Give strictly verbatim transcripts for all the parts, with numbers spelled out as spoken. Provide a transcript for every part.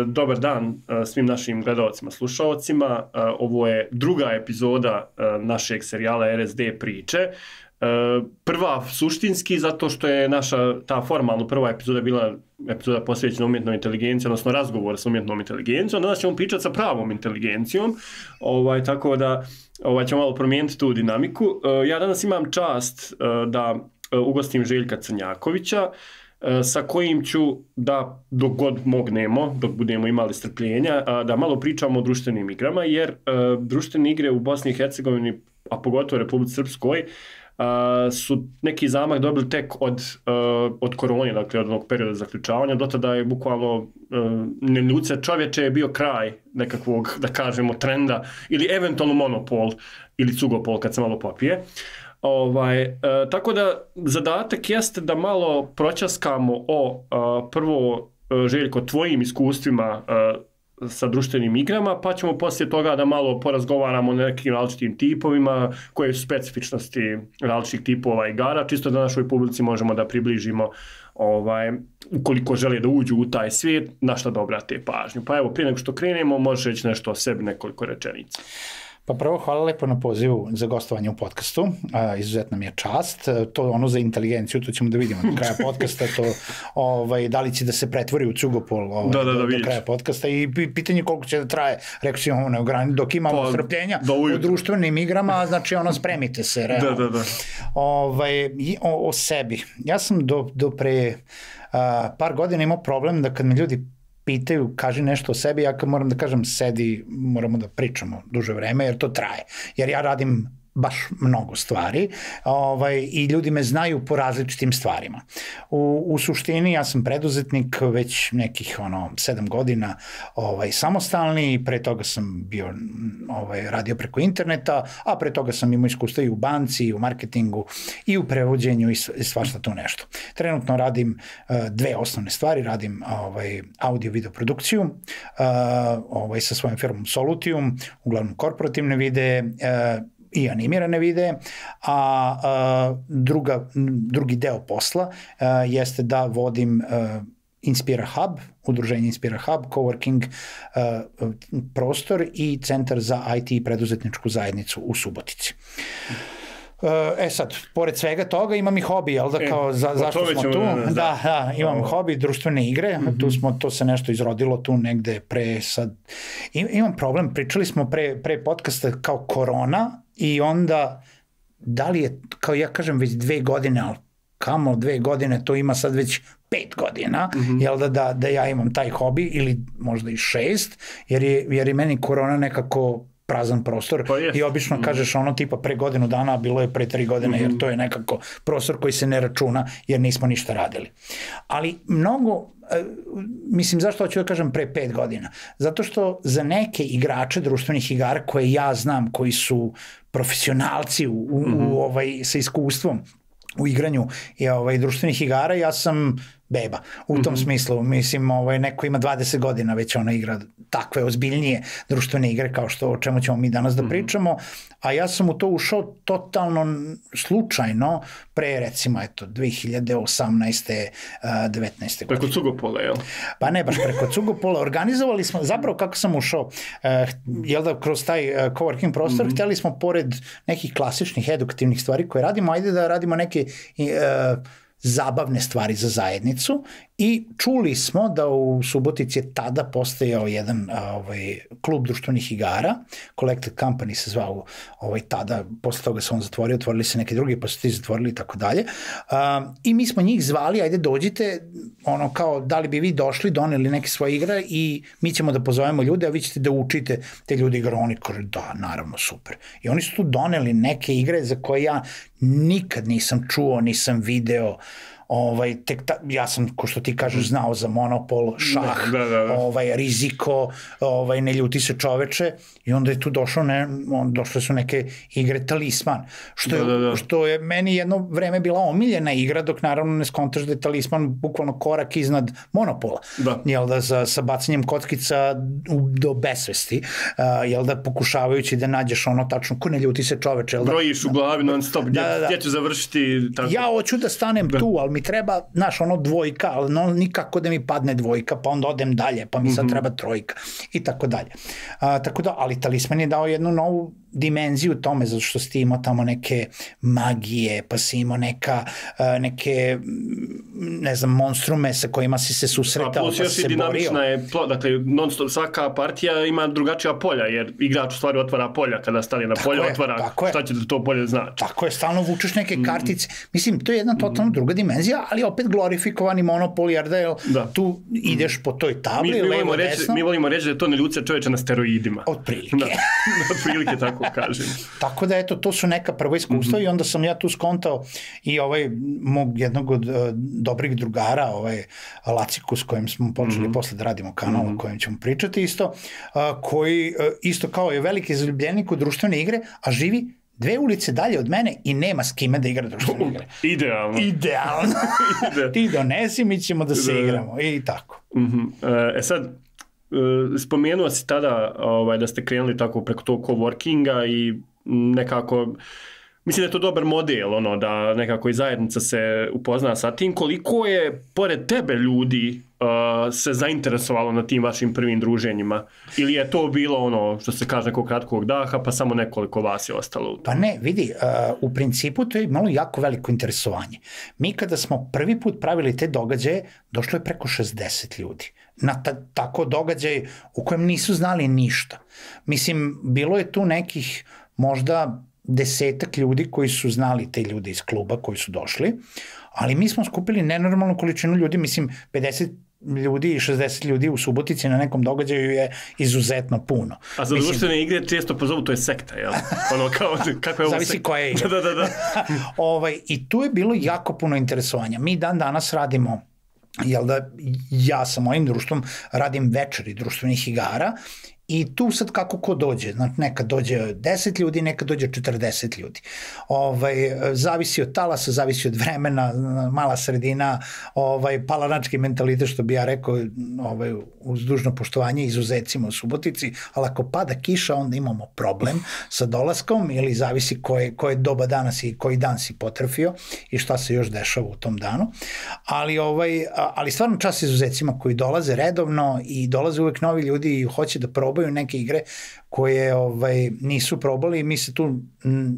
Dobar dan svim našim gledalcima, slušalcima. Ovo je druga epizoda našeg serijala R S D priče. Prva suštinski zato što je naša ta formalno prva epizoda bila epizoda posvećena umjetnoj inteligenciji, odnosno razgovor sa umjetnom inteligencijom. Danas ćemo pričati sa pravom inteligencijom, ovaj, tako da ovaj, ćemo malo promijeniti tu dinamiku. Ja danas imam čast da ugostim Željka Crnjakovića, sa kojim ću da dok god mognemo, dok budemo imali strpljenja, da malo pričamo o društvenim igrama, jer društvene igre u Bosni i Hercegovini, a pogotovo u Republici Srpskoj, su neki zamah dobili tek od, od korone, dakle od onog perioda zaključavanja. Do tada je bukvalno neljuce čovječe je bio kraj nekakvog, da kažemo, trenda ili eventualno monopol ili cugopol kad se malo popije. Ovaj, e, tako da zadatak jeste da malo proćaskamo o a, prvo Željko tvojim iskustvima a, sa društvenim igrama, pa ćemo poslije toga da malo porazgovaramo o nekim različitim tipovima, koje su specifičnosti različitih tipova igara, čisto da našoj publici možemo da približimo ovaj, ukoliko žele da uđu u taj svijet, na šta da obrate pažnju. Pa evo, prije nego što krenemo, možeš reći nešto o sebi, nekoliko rečenica. Pa prvo, hvala lepo na pozivu za gostovanje u podcastu, a, izuzetna mi je čast, to ono za inteligenciju, to ćemo da vidimo do kraja podcasta, to ovaj, da li će da se pretvori u cugopol ovaj, da, da, da, do, do kraja podcasta i pitanje koliko će da traje, rekao si ono neograničeno, dok imamo pa, strpljenja u društvenim igrama, znači ono spremite se, realno. Da, da, da. Ovaj, o, o sebi, ja sam do, do pre a, par godina imao problem da kad me ljudi pitaju, kaži nešto o sebi, ja kad moram da kažem sedi, moramo da pričamo duže vreme, jer to traje. Jer ja radim baš mnogo stvari ovaj, i ljudi me znaju po različitim stvarima. U, u suštini ja sam preduzetnik već nekih ono, sedam godina ovaj, samostalni i pre toga sam bio ovaj, radio preko interneta, a pre toga sam imao iskustva i u banci, i u marketingu, i u prevođenju i svašta tu nešto. Trenutno radim uh, dve osnovne stvari, radim ovaj, audio-video produkciju uh, ovaj, sa svojom firmom Solutium, uglavnom korporativne videe, uh, i animirane videe, a, a druga, drugi deo posla a, jeste da vodim a, Inspira Hub, udruženje Inspira Hub, coworking a, prostor i centar za I T i preduzetničku zajednicu u Subotici. E sad, pored svega toga imam i hobi, jel da, kao za, e, zašto smo tu? Da, da, da imam o... hobi, društvene igre, mm-hmm. tu smo, to se nešto izrodilo tu negde pre sad. I, imam problem, pričali smo pre, pre podcasta kao korona i onda, da li je, kao ja kažem, već dve godine, ali kamo dve godine, to ima sad već pet godina, mm-hmm. jel da, da, da ja imam taj hobi ili možda i šest, jer je, jer je meni korona nekako prazan prostor pa i obično mm. kažeš ono tipa pre godinu dana, a bilo je pre tri godine, mm-hmm. jer to je nekako prostor koji se ne računa jer nismo ništa radili. Ali mnogo, mislim zašto hoću da kažem pre pet godina? Zato što za neke igrače društvenih igara koje ja znam, koji su profesionalci u, u, mm-hmm. u, ovaj, sa iskustvom u igranju i ovaj, društvenih igara, ja sam beba. U tom mm-hmm. smislu, mislim, ovaj, neko ima dvadeset godina već ona igra takve ozbiljnije društvene igre kao što o čemu ćemo mi danas da pričamo, a ja sam u to ušao totalno slučajno pre recimo eto dve hiljade osamnaeste. devetnaeste. Preko Cugopola, jel? Pa ne baš preko Cugopola, organizovali smo, zapravo kako sam ušao, jel da kroz taj coworking prostor, mm-hmm. htjeli smo pored nekih klasičnih edukativnih stvari koje radimo, ajde da radimo neke uh, zabavne stvari za zajednicu i čuli smo da u Subotici je tada postojao jedan ovaj, klub društvenih igara, Collected Company se zvao ovaj, tada, posle toga se on zatvorio, otvorili se neki drugi, pa su ti zatvorili i tako dalje. I mi smo njih zvali, ajde dođite, ono kao da li bi vi došli, doneli neke svoje igre i mi ćemo da pozovemo ljude, a vi ćete da učite te ljudi igre. Oni kaže da, naravno, super. I oni su tu doneli neke igre za koje ja nikad nisam čuo, nisam video, ovaj, tek ta, ja sam, ko što ti kažeš, znao za monopol, šah, da, da, da. Ovaj, riziko, ovaj, ne ljuti se čoveče i onda je tu došlo, ne, on, došle su neke igre Talisman, što je, da, da, da. što je meni jedno vreme bila omiljena igra, dok naravno ne skontaš da je Talisman bukvalno korak iznad monopola, da. Jel da, za, sa bacanjem kockica u, do besvesti, uh, jel da, pokušavajući da nađeš ono tačno, ko ne ljuti se čoveče, jel da? Brojiš u glavi non stop, gdje, da, da, da. gdje ću završiti? Tako. Ja hoću da stanem da. tu, ali mi treba, znaš, ono dvojka, ali no, nikako da mi padne dvojka, pa onda odem dalje, pa mi sad treba trojka i tako dalje. A, tako da, ali talisman je dao jednu novu dimenziju tome, zato što si ti imao tamo neke magije, pa si imao neka, neke, ne znam, monstrume sa kojima si se susretao, pa si se borio. A plus još i dinamična je, dakle, non-stop, svaka partija ima drugačija polja, jer igrač u stvari otvara polja, kada stane na polje, otvara šta će da to polje znači. Tako je, stalno vučeš neke kartice. Mislim, to je jedna totalno druga dimenzija, ali opet glorifikovani monopol, jer da tu ideš po toj tabli, levo, desno. Mi volimo reći da je to ne ljudce čoveče na steroidima. Otprilike. Otprilike tako kažem. Tako da, eto, to su neka prva iskustva i onda sam ja tu skontao i ovaj mog jednog od dobrih drugara, ovaj Laciku, s kojim smo počeli posle da radimo kanal o kojem ćemo pričati isto, koji isto kao je veliki zaljubljenik u društvene igre, a živi dve ulice dalje od mene i nema s kime da igra društvene igre. Idealno. Idealno. Ti donesi, mi ćemo da se igramo i tako. E sad, spomenuo si tada da ste krenuli tako preko tog coworkinga i nekako, mislim da je to dobar model, ono, da nekako i zajednica se upozna sa tim. Koliko je, pored tebe, ljudi uh, se zainteresovalo na tim vašim prvim druženjima? Ili je to bilo ono, što se kaže, nekog kratkog daha, pa samo nekoliko vas je ostalo? Pa ne, vidi, uh, u principu to je imalo jako veliko interesovanje. Mi kada smo prvi put pravili te događaje, došlo je preko šezdeset ljudi. Na ta, tako događaj u kojem nisu znali ništa. Mislim, bilo je tu nekih možda desetak ljudi koji su znali te ljude iz kluba koji su došli, ali mi smo skupili nenormalnu količinu ljudi, mislim pedeset ljudi i šezdeset ljudi u Subotici na nekom događaju je izuzetno puno. A za društvene igre često pozovu, to je sekta, jel? Ono kao, kako je ovo zavisi sekta? Koja je igra. da, da, da. ovaj, I tu je bilo jako puno interesovanja. Mi dan danas radimo, jel da, ja sa mojim društvom radim večeri društvenih igara. I tu sad kako ko dođe, znači nekad dođe deset ljudi, nekad dođe četrdeset ljudi. Ovaj, zavisi od talasa, zavisi od vremena, mala sredina, ovaj, palanački mentalitet, što bi ja rekao, ovaj, uz dužno poštovanje, izuzecimo u Subotici, ali ako pada kiša, onda imamo problem sa dolaskom, ili zavisi koje, koje doba dana si, koji dan si potrefio i šta se još dešava u tom danu. Ali, ovaj, ali stvarno čast izuzecima koji dolaze redovno i dolaze uvek novi ljudi i hoće da probaju neke igre koje ovaj, nisu probali i mi se tu, m,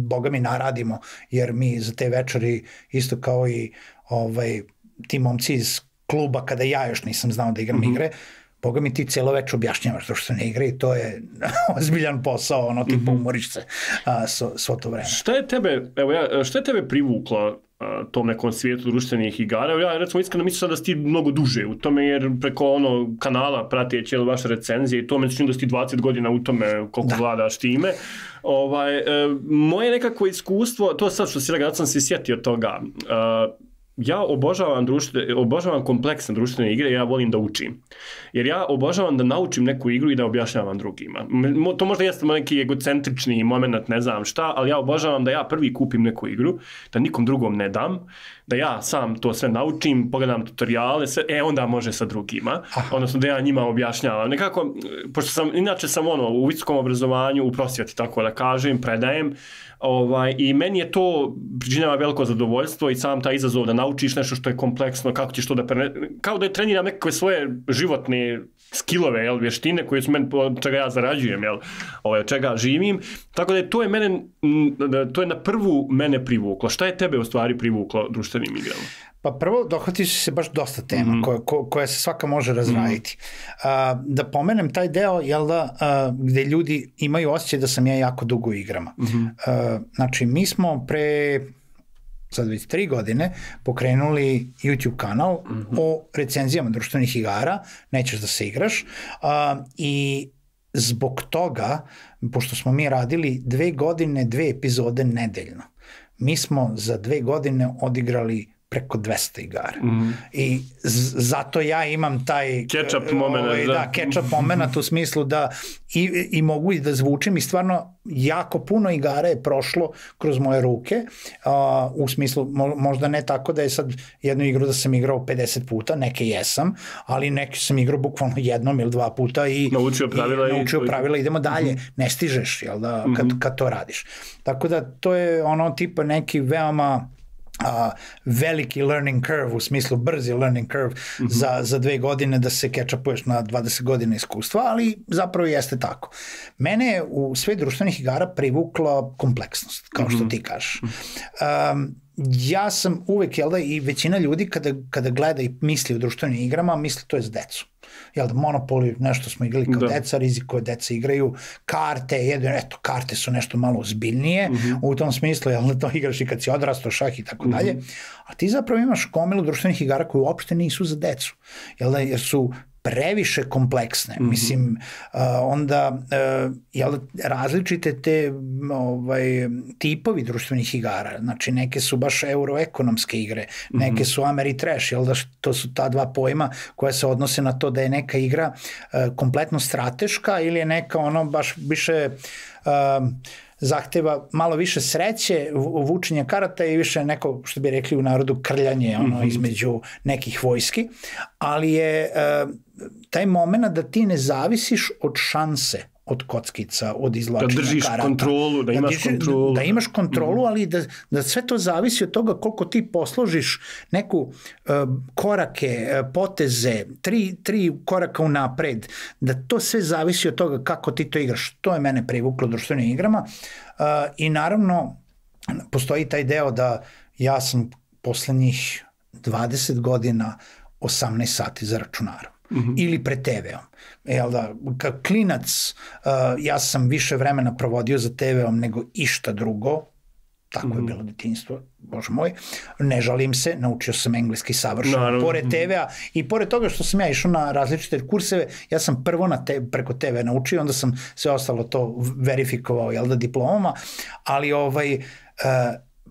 boga mi, naradimo, jer mi za te večeri, isto kao i ovaj, ti momci iz kluba, kada ja još nisam znao da igram mm-hmm. igre, boga mi, ti celo večer objašnjavaš društvene igre i to je ozbiljan posao, ono, tipa mm-hmm. umoriš se a, svo, svo to vreme. Šta je tebe, evo ja, šta je tebe privuklo tom nekom svijetu društvenih igara? Ja recimo iskreno mislim da si ti mnogo duže u tome, jer preko ono kanala prateći vaše recenzije i to me čini da si ti dvadeset godina u tome koliko da. Vladaš time. Ovaj, e, moje nekako iskustvo, to sad što si rekao, da sam se sjetio toga, e, ja obožavam, društvene, obožavam kompleksne društvene igre, ja volim da učim. Jer ja obožavam da naučim neku igru i da objašnjavam drugima. To možda jeste neki egocentrični moment, ne znam šta, ali ja obožavam da ja prvi kupim neku igru, da nikom drugom ne dam, da ja sam to sve naučim, pogledam tutoriale, sve, e onda može sa drugima. Aha. Odnosno da ja njima objašnjavam. Nekako, pošto sam, inače sam ono, u visokom obrazovanju, u prosvjeti, tako da kažem, predajem, ovaj, i meni je to pričinjava veliko zadovoljstvo i sam taj izazov da naučiš nešto što je kompleksno, kako ćeš to da prene... Kao da je treniram nekakve svoje životne skillove, jel, vještine koje su meni, od čega ja zarađujem, jel, ovaj, od čega živim. Tako da je to je mene, to je na prvu mene privuklo. Šta je tebe u stvari privuklo društvenim igrama? Pa prvo, dohvatiš se baš dosta tema mm-hmm. koja, ko, koja se svaka može razraditi. Mm-hmm. Uh, da pomenem taj deo, jel da, uh, gde ljudi imaju osjećaj da sam ja jako dugo u igrama. Mm-hmm. Uh, znači, mi smo pre sad već tri godine pokrenuli YouTube kanal mm-hmm. o recenzijama društvenih igara, nećeš da se igraš, uh, i zbog toga, pošto smo mi radili dve godine, dve epizode nedeljno, mi smo za dve godine odigrali preko dvesta igara. Mm. I z- zato ja imam taj catch-up moment, ovaj, da, da catch-up moment u smislu da i, i mogu i da zvučim i stvarno jako puno igara je prošlo kroz moje ruke, uh, u smislu mo- možda ne tako da je sad jednu igru da sam igrao pedeset puta, neke jesam, ali neke sam igrao bukvalno jednom ili dva puta i naučio pravila, i, i, naučio pravila idemo dalje, mm-hmm. ne stižeš, jel da, kad, kad to radiš. Tako da to je ono tipa neki veoma a, veliki learning curve, u smislu brzi learning curve mm-hmm. za, za dve godine da se catch-upuješ na dvadeset godina iskustva, ali zapravo jeste tako. Mene je u svet društvenih igara privukla kompleksnost, kao što mm-hmm. ti kažeš. Um, ja sam uvek, jel da, i većina ljudi kada, kada gleda i misli o društvenim igrama, misli to je za decu. Jel da, Monopoly, nešto smo igrali kao da. deca, riziko deca igraju, karte, jedno, eto, karte su nešto malo ozbiljnije, mm-hmm. u tom smislu, jel da, to igraš i kad si odrastao, šah i tako dalje, a ti zapravo imaš gomilu društvenih igara koji uopšte nisu za decu, jel da, jer su previše kompleksne, mm-hmm. mislim, uh, onda uh, jel, različite te ovaj, tipovi društvenih igara, znači neke su baš euroekonomske igre, mm-hmm. neke su Ameritrash, jel da, to su ta dva pojma koja se odnose na to da je neka igra uh, kompletno strateška ili je neka ono baš više uh, zahteva malo više sreće, vučenje karata i više neko, što bi rekli u narodu, krljanje ono, mm-hmm. između nekih vojski, ali je uh, taj moment da ti ne zavisiš od šanse, od kockica, od izvlačenja karata. Da držiš karata, kontrolu, da imaš da, kontrolu. Da imaš kontrolu, mm-hmm. ali da, da sve to zavisi od toga koliko ti posložiš neku uh, korake, uh, poteze, tri, tri koraka unapred, da to sve zavisi od toga kako ti to igraš. To je mene privuklo društvenim igrama uh, i naravno postoji taj deo da ja sam poslednjih dvadeset godina osamnaest sati za računarom. Mm-hmm. ili pred te veom. Jel da, kao klinac uh, ja sam više vremena provodio za te veom nego išta drugo, tako mm-hmm. je bilo detinjstvo, bože moj, ne žalim se, naučio sam engleski savršeno, Naravno. pored te vea i pored toga što sam ja išao na različite kurseve, ja sam prvo na te, preko te ve naučio, onda sam sve ostalo to verifikovao, jel da, diplomama, ali ovaj, uh,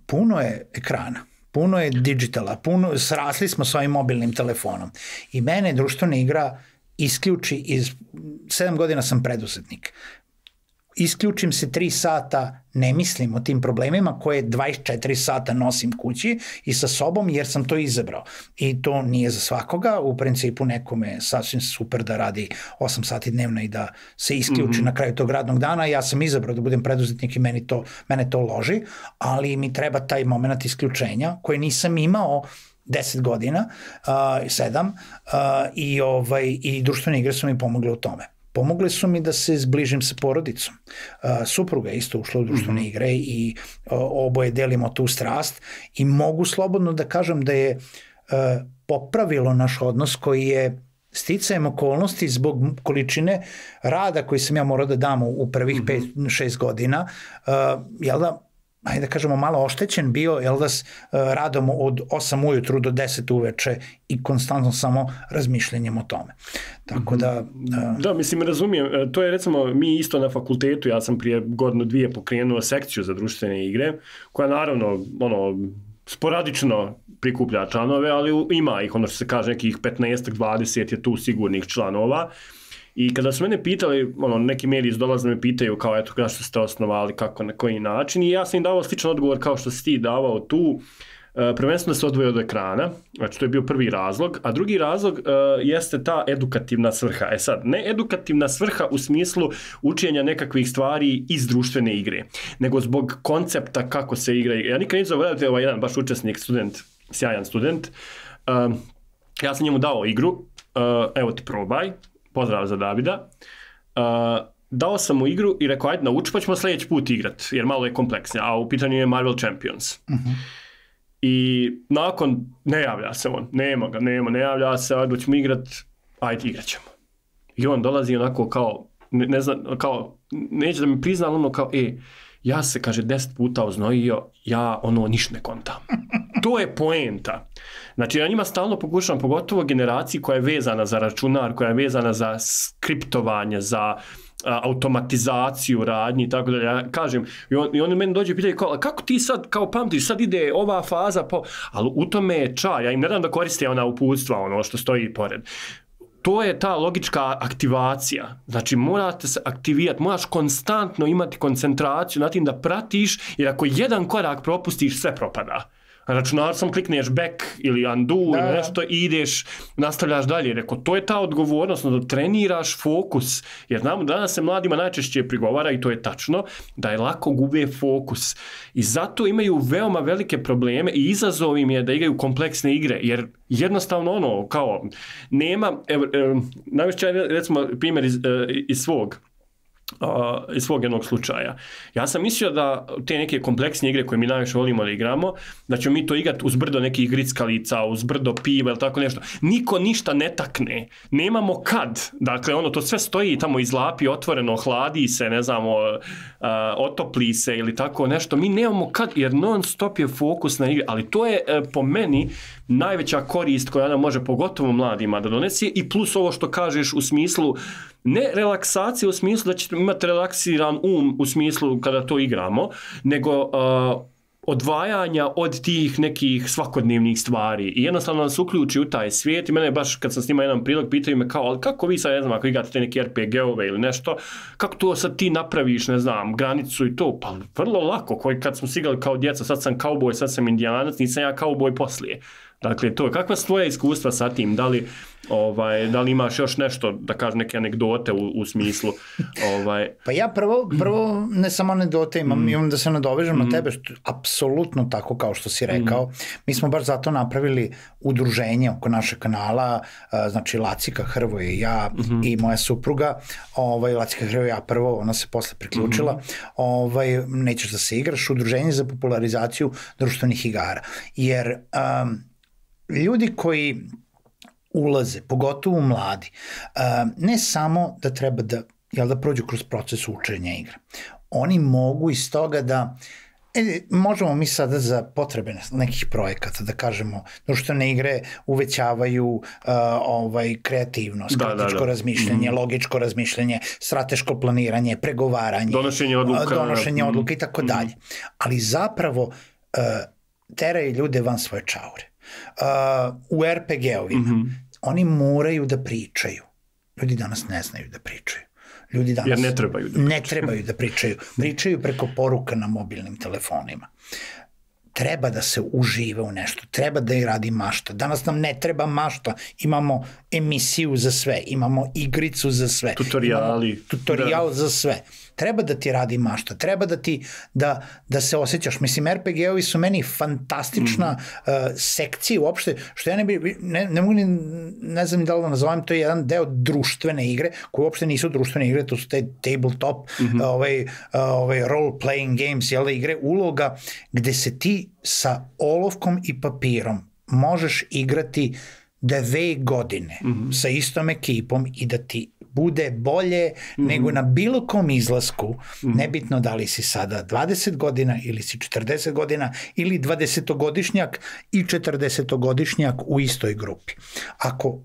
puno je ekrana. Puno je digitala, puno, srasli smo s ovim mobilnim telefonom. I mene društvena igra isključi iz, sedam godina sam preduzetnik. Isključim se tri sata, ne mislim o tim problemima koje dvadeset četiri sata nosim kući i sa sobom jer sam to izabrao. I to nije za svakoga, u principu nekome je sasvim super da radi osam sati dnevno i da se isključi mm-hmm. na kraju tog radnog dana. Ja sam izabrao da budem preduzetnik i meni to, mene to loži, ali mi treba taj moment isključenja koje nisam imao deset godina, uh, sedam, uh, i, ovaj, i društvene igre su mi pomogle u tome. Pomogle su mi da se zbližim sa porodicom. Uh, supruga je isto ušla u društvene mm-hmm. igre i uh, oboje delimo tu strast i mogu slobodno da kažem da je uh, popravilo naš odnos koji je sticajem okolnosti zbog količine rada koji sam ja morao da dam u prvih pet šest godina, uh, jel da, ajde da kažemo, malo oštećen bio, jel da, s radom od osam ujutru do deset uveče i konstantno samo razmišljanjem o tome. Tako da... Uh... Da, mislim, razumijem. To je, recimo, mi isto na fakultetu, ja sam prije godinu dvije pokrenuo sekciju za društvene igre, koja naravno, ono, sporadično prikuplja članove, ali ima ih, ono što se kaže, nekih petnaest dvadeset je tu sigurnih članova. I kada su mene pitali, ono, neki mediji iz dolaze me pitaju kao, eto, kada što ste osnovali, kako, na koji način, i ja sam im davao sličan odgovor kao što si ti davao tu, uh, prvenstveno da se odvoje od ekrana, znači to je bio prvi razlog, a drugi razlog uh, jeste ta edukativna svrha. E sad, ne edukativna svrha u smislu učenja nekakvih stvari iz društvene igre, nego zbog koncepta kako se igra. Ja nikad nisam zaboravio, ovaj jedan baš učesnik, student, sjajan student, uh, ja sam njemu dao igru, uh, evo ti probaj, pozdrav za Davida, uh, dao sam mu igru i rekao, ajde nauči, pa ćemo sljedeći put igrat, jer malo je kompleksnija, a u pitanju je Marvel Champions. Uh-huh. I nakon, ne javlja se on, nema ga, nema, ne javlja se, ajde ćemo igrat, ajde igrat ćemo. I on dolazi onako kao, ne, ne znam, kao, neće da mi prizna, ono kao, e, ja se, kaže, deset puta oznojio, ja ono ništa ne kontam. To je poenta. Znači, ja njima stalno pokušavam, pogotovo generaciji koja je vezana za računar, koja je vezana za skriptovanje, za a, automatizaciju radnji i tako da ja kažem, i, on, i oni meni dođe i pitaju kao, kako ti sad, kao pamtiš, sad ide ova faza, po... ali u tome je čaj, ja im ne dam da koriste ona uputstva, ono što stoji pored. To je ta logička aktivacija. Znači, morate se aktivirati, moraš konstantno imati koncentraciju na tim da pratiš, jer ako jedan korak propustiš, sve propada. računarcom klikneš back ili undo da, ili nešto i ideš, nastavljaš dalje. Rekao, to je ta odgovornost, da treniraš fokus. Jer znamo, danas se mladima najčešće prigovara, i to je tačno, da je lako gube fokus. I zato imaju veoma velike probleme i izazov im je da igraju kompleksne igre. Jer jednostavno ono, kao, nema, evo, evo najviše recimo primjer iz, iz svog, Uh, iz svog jednog slučaja. Ja sam mislio da te neke kompleksne igre koje mi najviše volimo da igramo, da ćemo mi to igrati uz brdo nekih grickalica, uz brdo piva ili tako nešto. Niko ništa ne takne. Nemamo kad. Dakle, ono, to sve stoji tamo izlapi, otvoreno, hladi se, ne znamo, uh, otopli se ili tako nešto. Mi nemamo kad, jer non stop je fokus na igre. Ali to je uh, po meni najveća korist koja nam može pogotovo mladima da donesi i plus ovo što kažeš u smislu ne relaksacije u smislu da ćete imati relaksiran um u smislu kada to igramo, nego uh, odvajanja od tih nekih svakodnevnih stvari i jednostavno nas uključi u taj svijet i mene baš kad sam snimao jedan prilog pitaju me kao, ali kako vi sad, ne znam, ako igrate te neke er pe ge-ove ili nešto, kako to sad ti napraviš, ne znam, granicu i to, pa vrlo lako, koji kad smo sigali kao djeca, sad sam kauboj, sad sam indijanac, nisam ja kauboj poslije. Dakle, to je, kakva su tvoje iskustva sa tim, da li, ovaj, da li imaš još nešto, da kažem, neke anegdote u, u smislu? Ovaj... Pa ja prvo, prvo ne samo anegdote imam, mm. imam da se nadovežem mm. na tebe, što, apsolutno tako kao što si rekao. Mm. Mi smo baš zato napravili udruženje oko našeg kanala, znači Lacika Hrvoje i ja mm-hmm. i moja supruga, ovaj, Lacika Hrvoje i ja prvo, ona se posle priključila, mm-hmm. ovaj, nećeš da se igraš, udruženje za popularizaciju društvenih igara. Jer um, ljudi koji ulaze, pogotovo mladi, ne samo da treba da, jel, da prođu kroz proces učenja igre. Oni mogu iz toga da, e, možemo mi sada za potrebe nekih projekata da kažemo, društvene igre uvećavaju uh, ovaj, kreativnost, da, kritičko da, da. razmišljanje, mm. logičko razmišljanje, strateško planiranje, pregovaranje, donošenje odluka, donošenje odluka mm. i tako dalje. Ali zapravo uh, teraju ljude van svoje čaure. Uh, u er pe ge-ovima mm-hmm. oni moraju da pričaju. Ljudi danas ne znaju da pričaju. Ljudi danas Jer ne trebaju da pričaju. Ne trebaju da pričaju. Pričaju preko poruka na mobilnim telefonima. Treba da se užive u nešto, treba da i radi mašta. Danas nam ne treba mašta, imamo emisiju za sve, imamo igricu za sve. Tutoriali. Tutorial da. za sve. Treba da ti radi mašta, treba da ti, da, da se osjećaš. Mislim, er pe ge-ovi su meni fantastična mm. uh, sekcija uopšte, što ja ne bi, ne, ne mogu ni, ne znam da li da nazovem, to je jedan deo društvene igre, koje uopšte nisu društvene igre, to su te tabletop, mm-hmm. uh, ovaj, uh, ovaj role-playing games, jel da, igre uloga, gde se ti sa olovkom i papirom možeš igrati dve godine mm-hmm. sa istom ekipom i da ti bude bolje mm-hmm. nego na bilo kom izlasku, mm-hmm. nebitno da li si sada dvadeset godina ili si četrdeset godina ili dvadesetogodišnjak i četrdesetogodišnjak u istoj grupi. Ako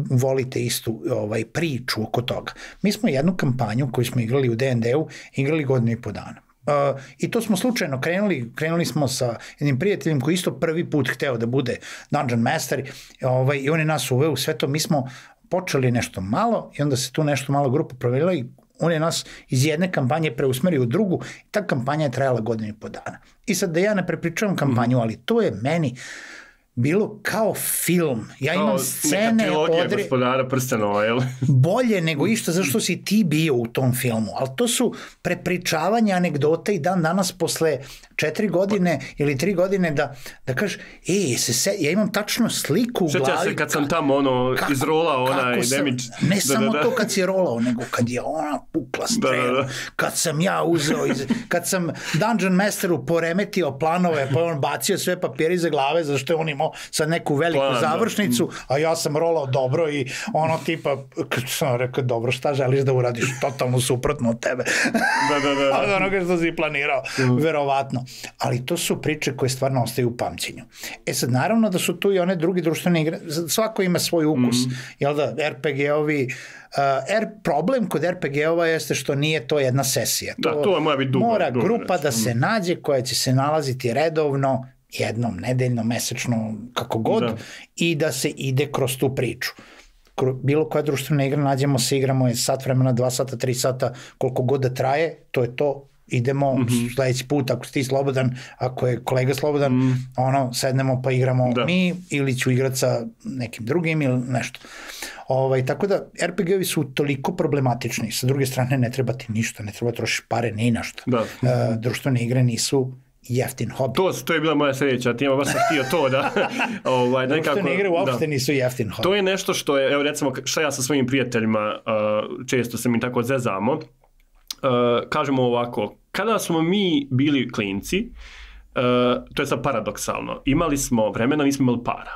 volite istu ovaj, priču oko toga. Mi smo jednu kampanju koju smo igrali u de en de-u igrali godinu i po dana. Uh, I to smo slučajno krenuli, krenuli smo sa jednim prijateljem koji isto prvi put hteo da bude Dungeon Master ovaj, i on je nas uveo u sve to. Mi smo počeli nešto malo i onda se tu nešto malo grupa provedila i on je nas iz jedne kampanje preusmerio u drugu i ta kampanja je trajala godinu i po dana. I sad da ja ne prepričavam kampanju, ali to je meni bilo kao film. Ja imam kao scene... Neka trilogija odre... Gospodara prstenova, jel? Bolje nego išta zašto si ti bio u tom filmu. Ali to su prepričavanja, anegdote i dan danas posle četiri godine ili tri godine da, da kažeš, ej, se se, ja imam tačno sliku u glavi. Sjeća se kad sam tamo ono, kako, izrolao onaj damage. Ne da, samo da, da. to kad si rolao, nego kad je ona pukla strela. Da, da, da. Kad sam ja uzeo, iz, kad sam Dungeon Masteru poremetio planove, pa on bacio sve papire iza glave, zašto je on imao sad neku veliku Plan, završnicu, da. a ja sam rolao dobro i ono tipa, kad sam rekao, dobro, šta želiš da uradiš? Totalno suprotno od tebe. Da, da, da. da. Od onoga što si planirao, mm. verovatno. Ali to su priče koje stvarno ostaju u pamćenju. E sad, naravno da su tu i one druge društvene igre, svako ima svoj ukus, mm. jel da, er pe ge-ovi, Uh, er, problem kod er pe ge-ova jeste što nije to jedna sesija. Da, to, to mora biti dugo. Mora dugo, grupa reći. da se nađe koja će se nalaziti redovno, jednom, nedeljno, mesečno, kako god, da. i da se ide kroz tu priču. Bilo koja društvena igra, nađemo se, igramo je sat vremena, dva sata, tri sata, koliko god da traje, to je to, idemo mm-hmm. sledeći put, ako si ti slobodan, ako je kolega slobodan, mm. ono, sednemo pa igramo da. mi, ili ću igrati sa nekim drugim ili nešto. Ovaj, tako da, er pe ge-ovi su toliko problematični, sa druge strane ne treba ti ništa, ne treba trošiš pare ni na što. Da. Uh, društvene igre nisu jeftin hobi. To, to je bila moja sljedeća tema, baš sam htio to da... ovaj, društvene igre uopšte da. nisu jeftin hobi. To je nešto što je, evo recimo, šta ja sa svojim prijateljima, uh, često se mi tako zezamo, uh, kažemo ovako, kada smo mi bili klinci, uh, to je sad paradoksalno, imali smo vremena, nismo imali para.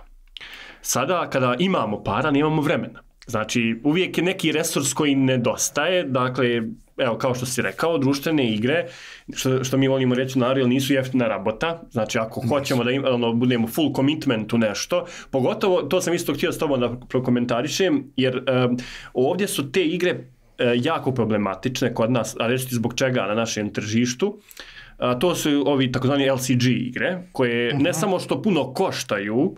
Sada, kada imamo para, nemamo vremena. Znači, uvijek je neki resurs koji nedostaje, dakle, evo, kao što si rekao, društvene igre, što, što mi volimo reći na Unreal, nisu jeftina rabota, znači, ako hoćemo da im, ono, budemo full commitment u nešto, pogotovo, to sam isto htio s tobom da prokomentarišem, jer um, ovdje su te igre uh, jako problematične kod nas, a reći ti zbog čega na našem tržištu. Uh, to su ovi takozvani el si ge igre, koje uh-huh. ne samo što puno koštaju,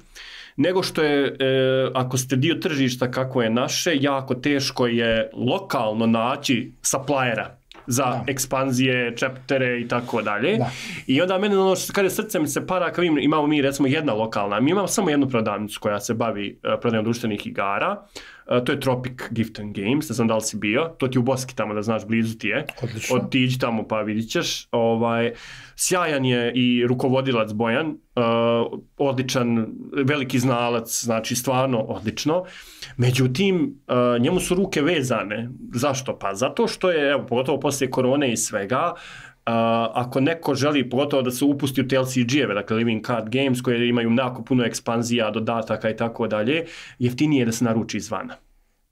nego što je, e, ako ste dio tržišta kako je naše, jako teško je lokalno naći suppliera za da. ekspanzije, chaptere i tako dalje. I onda mene ono što kada srce mi se para, kad imamo mi recimo jedna lokalna, mi imamo samo jednu prodavnicu koja se bavi uh, prodajom društvenih igara, uh, to je Tropic Gift and Games, ne znam da li si bio, to ti u Boski tamo da znaš, blizu ti je. Odlično. Otiđi tamo pa vidit ćeš. Ovaj, sjajan je i rukovodilac Bojan, uh, odličan, veliki znalac, znači stvarno odlično. Međutim, uh, njemu su ruke vezane. Zašto? Pa zato što je, evo, pogotovo poslije korone i svega, Uh, ako neko želi pogotovo da se upusti u te el si ge-eve, dakle Living Card Games, koje imaju jako puno ekspanzija, dodataka i tako dalje, jeftinije je da se naruči izvana.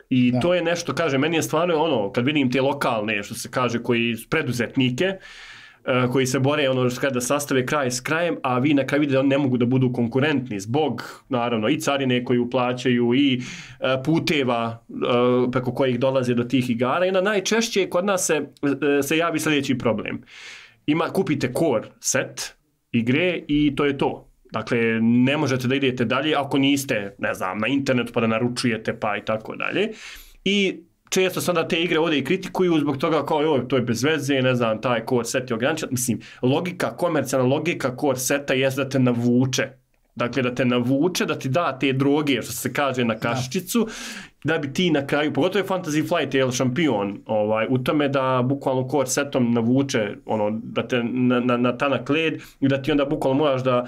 I da. to je nešto, kaže, meni je stvarno ono, kad vidim te lokalne, što se kaže, koji preduzetnike, uh, koji se bore ono da sastave kraj s krajem, a vi na kraju vidite da oni ne mogu da budu konkurentni zbog, naravno, i carine koju plaćaju i uh, puteva uh, preko kojih dolaze do tih igara. I onda najčešće kod nas se, uh, se javi sljedeći problem. Ima, kupite core set igre i to je to. Dakle, ne možete da idete dalje ako niste, ne znam, na internetu pa da naručujete pa i tako dalje. I često se onda te igre ovdje i kritikuju zbog toga kao joj, to je bez veze, ne znam, taj core set je ograničen. Mislim, logika, komercijalna logika core seta je da te navuče. Dakle, da te navuče, da ti da te droge, što se kaže, na kašičicu, da, da bi ti na kraju, pogotovo je Fantasy Flight je šampion ovaj, u tome da bukvalno core setom navuče, ono, da te na, na, na tanak led i da ti onda bukvalno moraš da,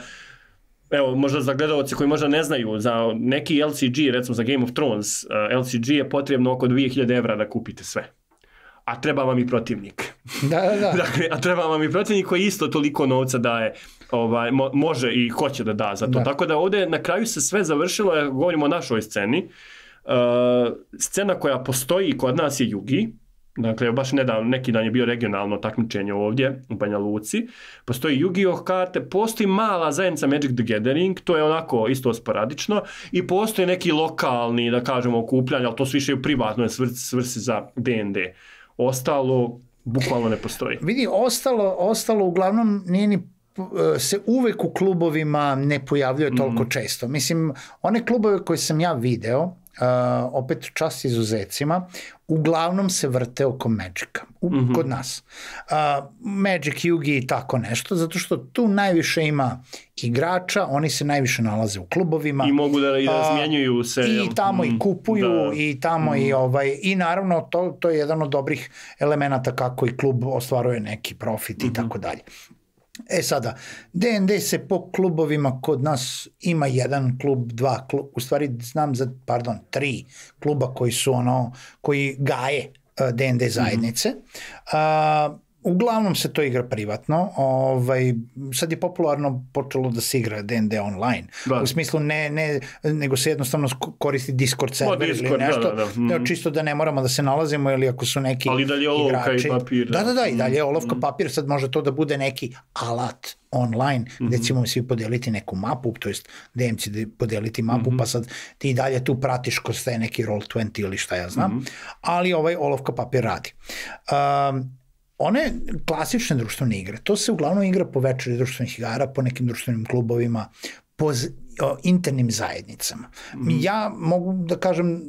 evo, možda za gledalce koji možda ne znaju, za neki el si ge, recimo za Game of Thrones, uh, el si ge je potrebno oko dvije hiljade evra da kupite sve. A treba vam i protivnik. Da, da, da. Dakle, a treba vam i protivnik koji isto toliko novca daje, ovaj, mo, može i hoće da da za to. Da. Tako da ovdje na kraju se sve završilo, ja govorimo o našoj sceni. Uh, scena koja postoji kod nas je Yugi. Dakle, baš nedavno, neki dan je bio regionalno takmičenje ovdje u Banja Luci. Postoji Yu-Gi-Oh karte, postoji mala zajednica Magic the Gathering, to je onako isto sporadično, i postoji neki lokalni, da kažemo, okupljanje, ali to su više u privatnoj svrsi, svrsi za de en de. Ostalo, bukvalno ne postoji. Vidi, ostalo, ostalo uglavnom nije ni se uvek u klubovima ne pojavljuje toliko mm. često. Mislim, one klubove koje sam ja video, Uh, opet čast izuzecima, uglavnom se vrte oko Magica, u, mm-hmm. kod nas. Uh, Magic, Yugi i tako nešto, zato što tu najviše ima igrača, oni se najviše nalaze u klubovima. I mogu da razmjenjuju se. I tamo mm, i kupuju, da. i tamo mm. i ovaj, i naravno to, to je jedan od dobrih elemenata kako i klub ostvaruje neki profit mm-hmm. i tako dalje. E sada, de en de se po klubovima kod nas ima jedan klub, dva klub, u stvari znam za, pardon, tri kluba koji su ono, koji gaje uh, de en de zajednice. Mm-hmm. Uh, uglavnom se to igra privatno, ovaj, sad je popularno počelo da se igra de en de online, da. U smislu ne, ne, nego se jednostavno koristi Discord server Discord, ili nešto, da, da, da. Mm. čisto da ne moramo da se nalazimo ili ako su neki ali dalje olovka igrači. I papir. Da, da, da, i dalje olovka, papir, sad može to da bude neki alat online, mm-hmm. gde ćemo svi podeliti neku mapu, to jest de em će podeliti mapu, mm-hmm. pa sad ti dalje tu pratiš ko staje neki roll dvadeset ili šta ja znam, mm-hmm. ali ovaj olovka papir radi. Um, One klasične društvene igre, to se uglavnom igra po večeri društvenih igara, po nekim društvenim klubovima, po z, o, internim zajednicama. Mm. Ja mogu da kažem,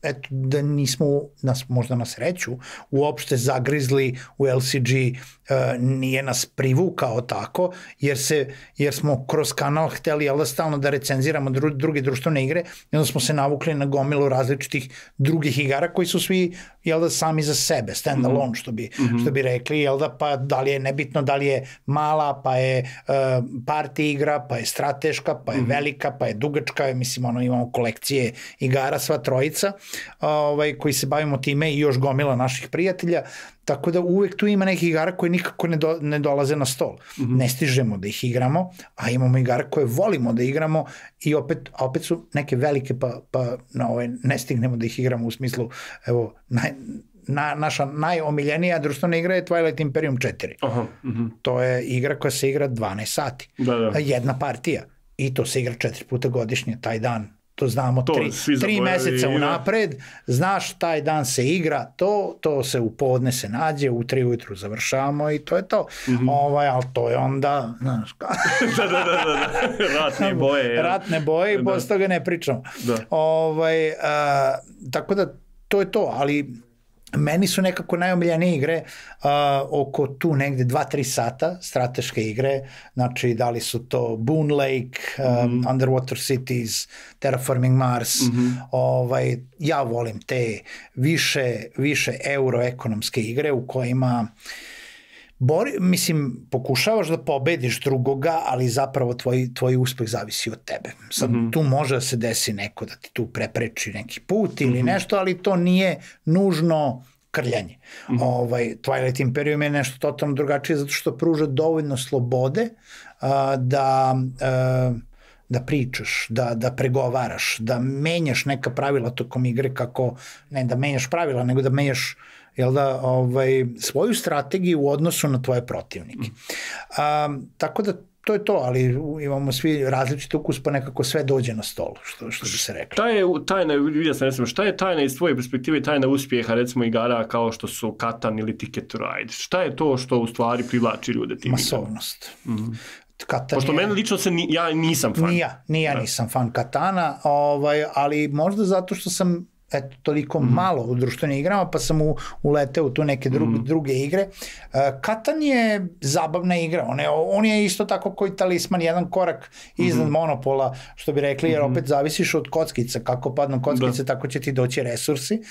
eto, da nismo, nas, možda na sreću, uopšte zagrizli u L C G, uh, nije nas privukao tako, jer, se, jer smo kroz kanal hteli, jel da, stalno da recenziramo dru, druge društvene igre, i onda smo se navukli na gomilu različitih drugih igara koji su svi, jel da, sami za sebe, stand alone, što bi, mm-hmm. što bi rekli, jel da, pa da li je nebitno, da li je mala, pa je uh, party igra, pa je strateška, pa je mm-hmm. velika, pa je dugačka, mislim, ono, imamo kolekcije igara, sva trojica, ovaj, koji se bavimo time i još gomila naših prijatelja, tako da uvek tu ima nekih igara koje nikako ne, do, ne dolaze na stol. Mm-hmm. Ne stižemo da ih igramo, a imamo igara koje volimo da igramo i opet, a opet su neke velike, pa, pa na ovaj, ne stignemo da ih igramo u smislu, evo, naj, na, naša najomiljenija društvena igra je Twilight Imperium četiri. Aha, mm-hmm. To je igra koja se igra dvanaest sati. Da, da. Jedna partija. I to se igra četiri puta godišnje, taj dan. To znamo to tri, tri meseca unapred, znaš, taj dan se igra, to, to se u podne se nađe, u tri ujutru završavamo i to je to. Mm-hmm. Ovaj, ali to je onda, znaš, da, da, da, da, ratne boje. Ja. Ratne boje i posle toga ne pričamo. Da. Ovaj, a, tako da, to je to, ali meni su nekako najomiljenije igre uh, oko tu negde dva tri sata, strateške igre, znači da li su to Boon Lake, um, mm-hmm. Underwater Cities, Terraforming Mars, mm-hmm. ovaj, ja volim te više, više euroekonomske igre u kojima Bori, mislim, pokušavaš da pobediš drugoga, ali zapravo tvoj, tvoj uspeh zavisi od tebe. Sad, mm-hmm. tu može da se desi neko da ti tu prepreči neki put ili mm-hmm. nešto, ali to nije nužno krljanje. Mm-hmm. Ovaj, Twilight Imperium je nešto totalno drugačije zato što pruža dovoljno slobode uh, da... Uh, da pričaš, da, da pregovaraš, da menjaš neka pravila tokom igre kako, ne da menjaš pravila, nego da menjaš, jel da, ovaj, svoju strategiju u odnosu na tvoje protivnike. A, tako da to je to, ali imamo svi različite ukus, pa nekako sve dođe na stolu, što, što bi se reklo. Šta je tajna, vidio sam, recimo, šta je tajna iz tvoje perspektive, tajna uspjeha, recimo, igara kao što su Katan ili Ticket to Ride? Šta je to što u stvari privlači ljude tim Masovnost. Mm-hmm. Katan Pošto je, meni lično se, ni, ja nisam fan. Ni ja, ni ja nisam fan Katana, ovaj, ali možda zato što sam eto, toliko mm-hmm. malo u društvenim igrama, pa sam u, uleteo u tu neke druge, mm-hmm. druge igre. Uh, Katan je zabavna igra, on je, on je isto tako koji Talisman, jedan korak iznad mm-hmm. Monopola, što bi rekli, jer opet zavisiš od kockica, kako padnu kockice, da. Tako će ti doći resursi.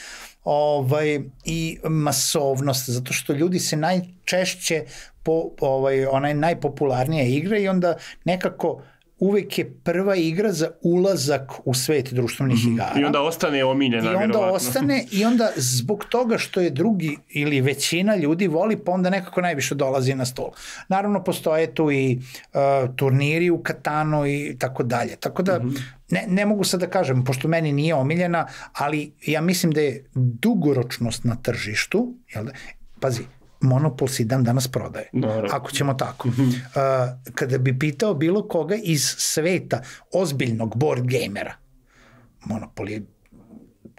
Ovaj, i masovnost, zato što ljudi se najčešće po, ovaj, ona je najpopularnija igra i onda nekako uvek je prva igra za ulazak u svet društvenih mm-hmm. igara. I onda ostane omiljena. I onda vjerovatno. ostane i onda zbog toga što je drugi ili većina ljudi voli, pa onda nekako najviše dolazi na stol. Naravno postoje tu i uh, turniri u Katanu i tako dalje. Tako da mm-hmm. ne, ne mogu sad da kažem, pošto meni nije omiljena, ali ja mislim da je dugoročnost na tržištu, jel da, pazi, Monopol se dan danas prodaje, Naravno. Ako ćemo tako. Uh, kada bi pitao bilo koga iz sveta ozbiljnog board gamera, Monopol je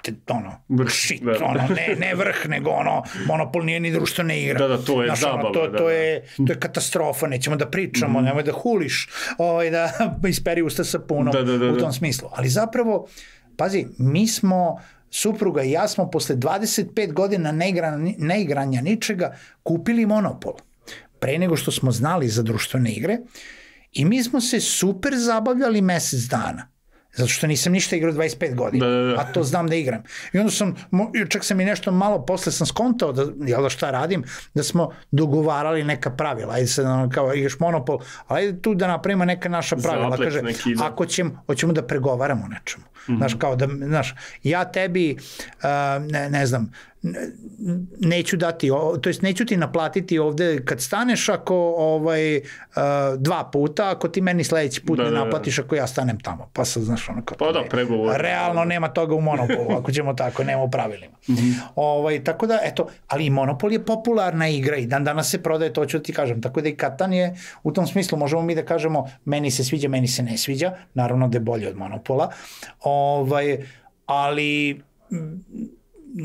te, ono, vrh, shit, da. ono, ne, ne vrh, nego ono, Monopol nije ni društvena igra. Da, da, to je Znaš, zabava. Ono, to, da, to, je, to je katastrofa, nećemo da pričamo, mm-hmm. nemoj da huliš, ovaj, da isperi usta sa punom da, da, da, u tom smislu. Ali zapravo, pazi, mi smo supruga i ja smo posle dvadeset pet godina neigranja, neigranja ničega kupili Monopol. Pre nego što smo znali za društvene igre i mi smo se super zabavljali mesec dana. Zato što nisam ništa igrao dvadeset pet godina, da, da, da. A to znam da igram. I onda sam, čak sam i nešto malo posle sam skontao da, jel da šta radim, da smo dogovarali neka pravila. Ajde se, kao igraš Monopol, ali ajde tu da napravimo neka naša pravila. Zaplet, kaže, neki, da. Ako ćemo, hoćemo da pregovaramo o nečemu. Mm-hmm. Znaš, kao da, znaš, ja tebi, uh, ne, ne znam, neću dati, to jest neću ti naplatiti ovde kad staneš ako ovaj, uh, dva puta, ako ti meni sledeći put da, ne naplatiš ako ja stanem tamo. Pa sad, znaš, ono kao... Pa da, pregovor. Realno nema toga u Monopolu, ako ćemo tako, nema u pravilima. Mm-hmm. Ovaj, tako da, eto, ali i Monopol je popularna igra i dan danas se prodaje, to ću ti kažem. Tako da i Katan je, u tom smislu možemo mi da kažemo meni se sviđa, meni se ne sviđa, naravno da je bolje od Monopola, ovaj, ali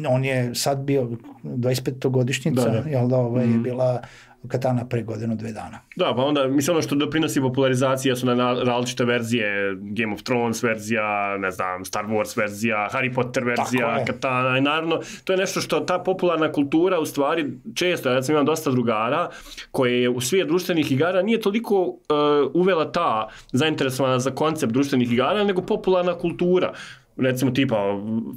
on je sad bio dvadeset petogodišnjica, da, da. jel da, ovaj, mm. je bila Katana pre godinu, dve dana. Da, pa onda, mislim, ono što doprinosi popularizacija su na različite verzije, Game of Thrones verzija, ne znam, Star Wars verzija, Harry Potter verzija, Katana, i naravno, to je nešto što ta popularna kultura, u stvari, često, ja sam imam dosta drugara, koje je u svijet društvenih igara nije toliko uh, uvela ta zainteresovana za koncept društvenih igara, nego popularna kultura. Recimo tipa,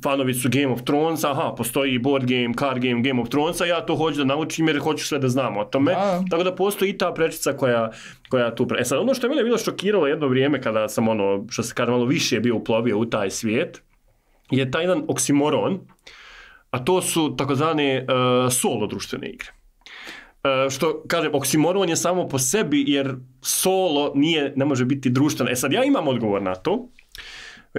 fanovi su Game of Thrones, aha, postoji board game, card game, Game of Thronesa, ja to hoću da naučim jer hoću sve da znam o tome. Da. Tako da postoji i ta prečica koja, koja tu... Pre... E sad, ono što je mene bilo šokiralo jedno vrijeme kada sam ono, što se kaže, malo više bio uplovio u taj svijet, je taj jedan oksimoron, a to su takozvane uh, solo društvene igre. Uh, što, kažem, oksimoron je samo po sebi jer solo nije, ne može biti društveno. E sad, ja imam odgovor na to.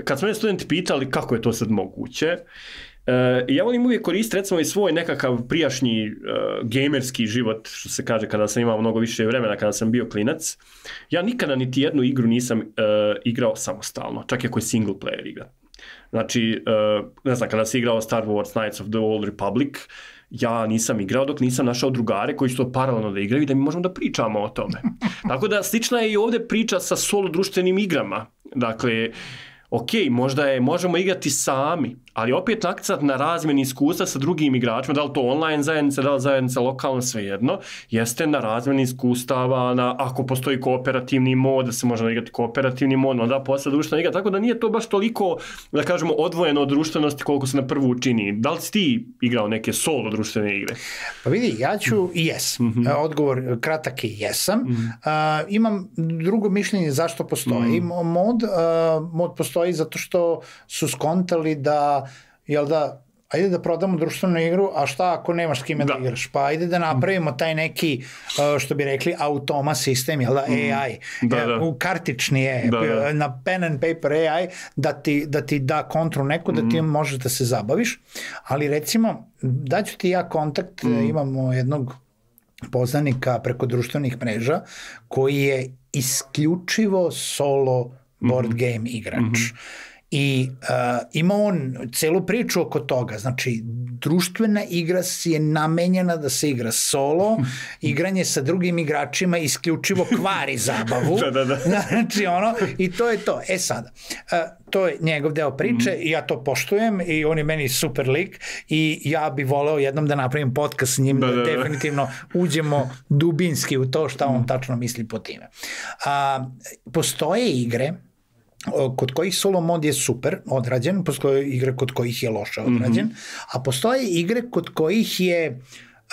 Kad smo me studenti pitali kako je to sad moguće, uh, ja volim uvijek koristiti recimo i svoj nekakav prijašnji uh, gamerski život, što se kaže kada sam imao mnogo više vremena, kada sam bio klinac. Ja nikada niti jednu igru nisam uh, igrao samostalno, čak i ako je single player igra. Znači, uh, ne znam, kada sam igrao Star Wars Knights of the Old Republic, ja nisam igrao dok nisam našao drugare koji su to paralelno da igraju i da mi možemo da pričamo o tome. Tako da slična je i ovdje priča sa solo društvenim igrama. Dakle, ok, možda je, možemo igrati sami, ali opet akcent na razmjeni iskustva sa drugim igračima, da li to online zajednica, da li zajednica lokalno, svejedno, jeste na razmjeni iskustava, na, ako postoji kooperativni mod, da se može igrati kooperativni mod, onda posle društvena igra, tako da nije to baš toliko, da kažemo, odvojeno od društvenosti koliko se na prvu učini. Da li si ti igrao neke solo društvene igre? Pa vidi, ja ću i jes. Mm-hmm. Odgovor kratak je jesam. Mm-hmm. Uh, imam drugo mišljenje zašto postoji mm-hmm. mod. Uh, mod postoji zato što su skontali da jel da, ajde da prodamo društvenu igru, a šta ako nemaš s kime da, da igraš? Pa ajde da napravimo taj neki, što bi rekli, automa sistem, jel da, A I, da, da. U kartični je, da, da. Na pen and paper A I, da ti da, ti da kontru neku, da ti možeš da se zabaviš, ali recimo, daću ti ja kontakt, mm. imamo jednog poznanika preko društvenih mreža, koji je isključivo solo board game igrač. Mm-hmm. I uh, ima on celu priču oko toga, znači društvena igra je namenjena da se igra solo, igranje sa drugim igračima isključivo kvari zabavu, da, da, da. Znači ono, i to je to. E sada, uh, to je njegov deo priče mm. i ja to poštujem i on je meni super lik i ja bi voleo jednom da napravim podcast s njim, da, da, da definitivno uđemo dubinski u to šta on tačno misli po time. Uh, postoje igre kod kojih solo mod je super odrađen, postoje igre kod kojih je loše odrađen, mm-hmm. a postoje igre kod kojih je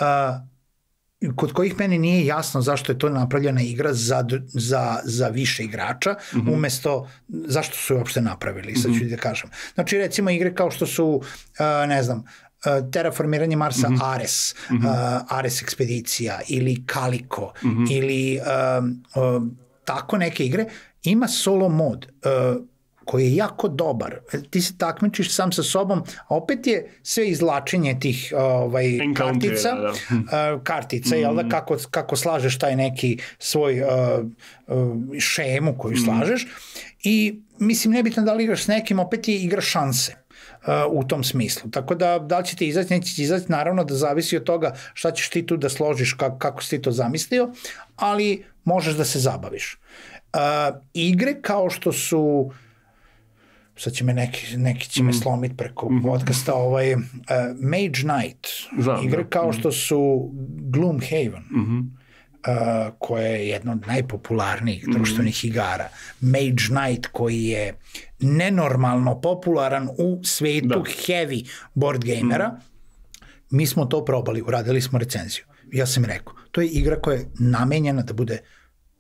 uh, kod kojih meni nije jasno zašto je to napravljena igra za, za, za više igrača, mm-hmm. umesto zašto su je uopšte napravili, sad ću mm-hmm. da kažem. Znači recimo igre kao što su, uh, ne znam, uh, Terraformiranje Marsa, mm-hmm. Ares, mm-hmm. uh, Ares Ekspedicija ili Calico mm-hmm. ili uh, uh, tako neke igre, ima solo mod uh, koji je jako dobar. Ti se takmičiš sam sa sobom, a opet je sve izlačenje tih ovaj, kartica, da, da. Uh, kartica, mm. jel da, kako, kako slažeš taj neki svoj uh, uh, šemu koju mm. slažeš i mislim nebitno da li igraš s nekim, opet je igra šanse. Uh, u tom smislu. Tako da, da li će ti izaći, neće ti izaći, naravno da zavisi od toga šta ćeš ti tu da složiš, kako, kako si ti to zamislio, ali možeš da se zabaviš. Uh, igre kao što su, sad će me neki, neki će me mm. slomiti preko mm-hmm. podcasta, ovaj, uh, Mage Knight, Znam, igre kao mm. što su Gloomhaven, mm-hmm. uh, koja je jedna od najpopularnijih mm-hmm. društvenih igara, Mage Knight koji je nenormalno popularan u svetu da. heavy board gamera, mm. mi smo to probali, uradili smo recenziju. Ja sam rekao, to je igra koja je namenjena da bude,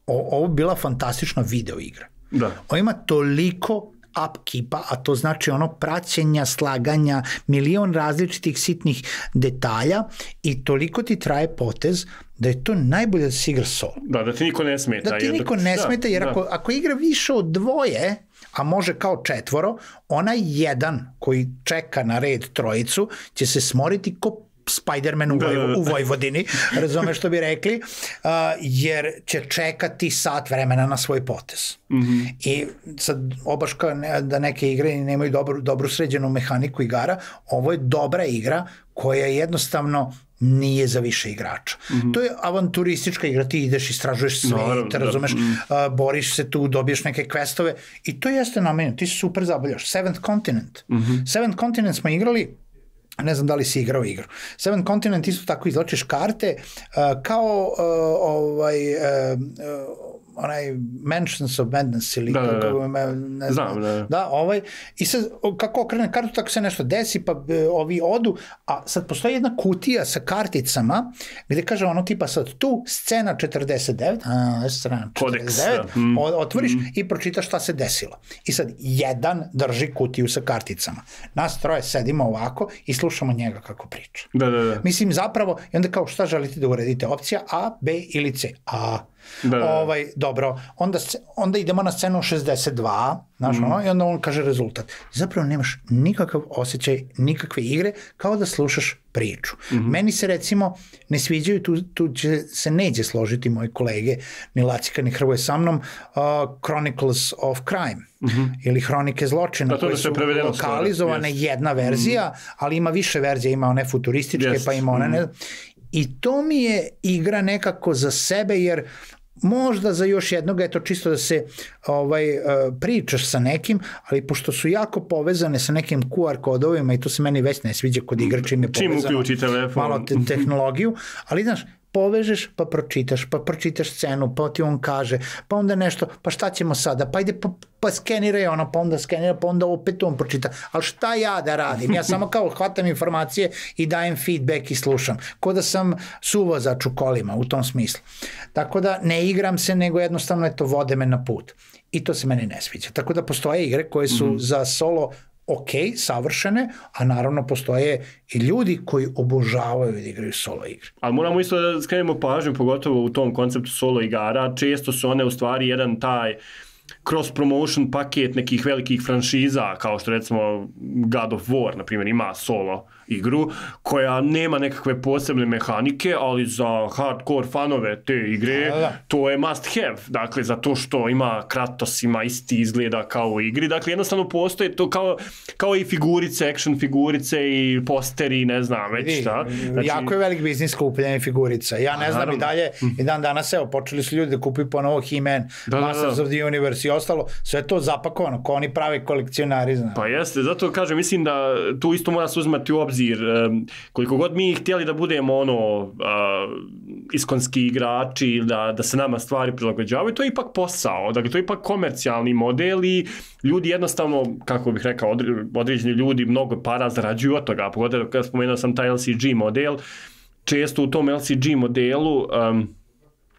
o, ovo bila fantastična video igra. Da. Ovo ima toliko upkeepa, a to znači ono praćenja, slaganja, milion različitih sitnih detalja i toliko ti traje potez da je to najbolje da se igra solo. Da, da ti niko ne smeta. Da ti niko ne smeta, jer ako, ako igra više od dvoje, a može kao četvoro, onaj jedan koji čeka na red trojicu će se smoriti ko Spider-Man u, Voj, u Vojvodini, razumeš što bi rekli, uh, jer će čekati sat vremena na svoj potez. Mm-hmm. I sad obaška ne, da neke igre nemaju dobru, dobru sređenu mehaniku igara, ovo je dobra igra koja jednostavno nije za više igrača. Mm-hmm. To je avanturistička igra, ti ideš, istražuješ svet, no, razumeš, mm. uh, boriš se tu, dobiješ neke questove i to jeste namenjeno, ti se super zabavljaš. Seventh Continent. Mm-hmm. Seventh Continent smo igrali, ne znam da li si igrao igru. Seventh Continent isto tako izločiš karte uh, kao uh, ovaj... Uh, uh, onaj Mansions of Madness ili da, da, da. Kako, ne znam, da. da, ovaj, i sad kako okrene kartu tako se nešto desi pa e, ovi odu, a sad postoji jedna kutija sa karticama gde kaže ono tipa sad tu scena četrdeset devet, a, scena četrdeset devet, mm. otvoriš mm. i pročitaš šta se desilo. I sad jedan drži kutiju sa karticama. Nas troje sedimo ovako i slušamo njega kako priča. Da, da, da. Mislim zapravo, i onda kao šta želite da uredite, opcija A, B ili C? A. Da, da. Ovaj, dobro, onda, onda idemo na scenu šezdeset dva, znaš, mm. ono, i onda on kaže rezultat. Zapravo nemaš nikakav osjećaj, nikakve igre, kao da slušaš priču. Mm-hmm. Meni se recimo ne sviđaju, tu, tu će, se neće složiti moji kolege, ni Lacika, ni Hrvoje sa mnom, uh, Chronicles of Crime, mm-hmm. ili Hronike zločina, koje su lokalizovane, yes. jedna verzija, mm-hmm. ali ima više verzija, ima one futurističke, yes. pa ima one ne... I to mi je igra nekako za sebe, jer možda za još jednog, eto čisto da se ovaj, pričaš sa nekim, ali pošto su jako povezane sa nekim Q R kodovima i to se meni već ne sviđa kod igra čim je povezano, malo te tehnologiju, ali znaš, povežeš, pa pročitaš, pa pročitaš scenu, pa ti on kaže, pa onda nešto, pa šta ćemo sada, pa ide, pa, pa skeniraj ono, pa onda skenira, pa onda opet on pročita, ali šta ja da radim? Ja samo kao hvatam informacije i dajem feedback i slušam, ko da sam suvozač u kolima, u tom smislu. Tako da ne igram se, nego jednostavno eto, vode me na put. I to se meni ne sviđa. Tako da postoje igre koje su mm-hmm. za solo ok, savršene, a naravno postoje i ljudi koji obožavaju da igraju solo igre. Ali moramo isto da skrenemo pažnju, pogotovo u tom konceptu solo igara, često su one u stvari jedan taj cross-promotion paket nekih velikih franšiza, kao što recimo God of War, na primjer, ima solo igru, koja nema nekakve posebne mehanike, ali za hardcore fanove te igre, da, da. To je must have. Dakle, zato što ima Kratos, ima isti izgleda kao u igri. Dakle, jednostavno postoje to kao, kao i figurice, action figurice i posteri, ne znam već šta. Znači, jako je velik biznis skupljanje figurica. Ja ne znam naravno. I dalje, i dan danas, evo, počeli su ljudi da kupuju ponovo He-Man, da, Masters da, da. of the Universe i ostalo, sve to zapakovano, ko oni prave kolekcionari, znam. Pa jeste, zato kažem, mislim da tu isto mora se uzmati u obzir. Koliko god mi htjeli da budemo ono uh, iskonski igrači, da, da se nama stvari prilagođavaju, to je ipak posao, dakle to je ipak komercijalni model i ljudi jednostavno, kako bih rekao, određeni ljudi mnogo para zarađuju od toga, pogotovo kada spomenuo sam taj L C G model, često u tom L C G modelu um,